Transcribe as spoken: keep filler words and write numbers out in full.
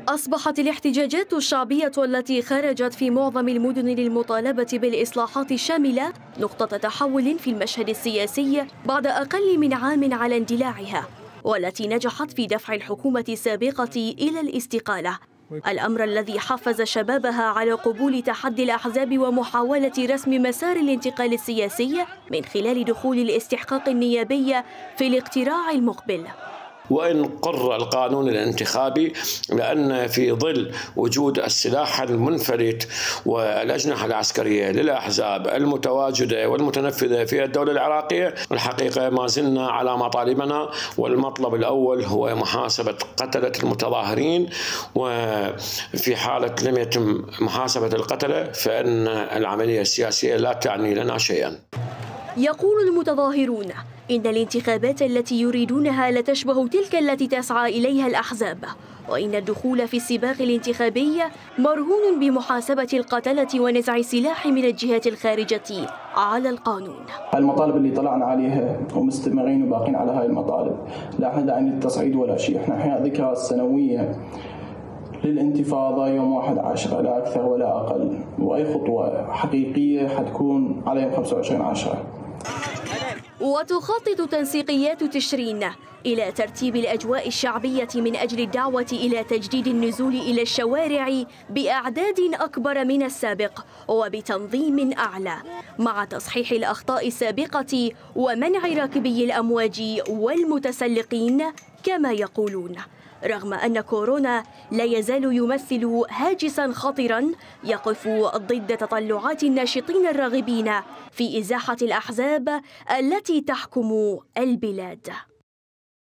أصبحت الاحتجاجات الشعبية التي خرجت في معظم المدن للمطالبة بالإصلاحات الشاملة نقطة تحول في المشهد السياسي بعد أقل من عام على اندلاعها، والتي نجحت في دفع الحكومة السابقة إلى الاستقالة، الأمر الذي حفز شبابها على قبول تحدي الأحزاب ومحاولة رسم مسار الانتقال السياسي من خلال دخول الاستحقاق النيابي في الاقتراع المقبل. وإن قر القانون الانتخابي، لأن في ظل وجود السلاح المنفلت والأجنحة العسكرية للأحزاب المتواجدة والمتنفذة في الدولة العراقية، الحقيقة ما زلنا على مطالبنا، والمطلب الأول هو محاسبة قتلة المتظاهرين، وفي حالة لم يتم محاسبة القتلة فإن العملية السياسية لا تعني لنا شيئا. يقول المتظاهرون إن الانتخابات التي يريدونها لتشبه تلك التي تسعى إليها الأحزاب، وإن الدخول في السباق الانتخابي مرهون بمحاسبة القتلة ونزع السلاح من الجهات الخارجة على القانون. المطالب اللي طلعنا عليها ومستمرين وباقين على هاي المطالب، لا احنا داعين للتصعيد ولا شيء، احنا احياء ذكرى السنوية للانتفاضة يوم واحد عشرة لا أكثر ولا أقل، وأي خطوة حقيقية حتكون على يوم خمسة وعشرين عشرة. وتخطط تنسيقيات تشرين إلى ترتيب الأجواء الشعبية من أجل الدعوة إلى تجديد النزول إلى الشوارع بأعداد أكبر من السابق وبتنظيم أعلى، مع تصحيح الأخطاء السابقة ومنع راكبي الأمواج والمتسلقين كما يقولون، رغم أن كورونا لا يزال يمثل هاجساً خطراً يقف ضد تطلعات الناشطين الراغبين في إزاحة الأحزاب التي تحكم البلاد.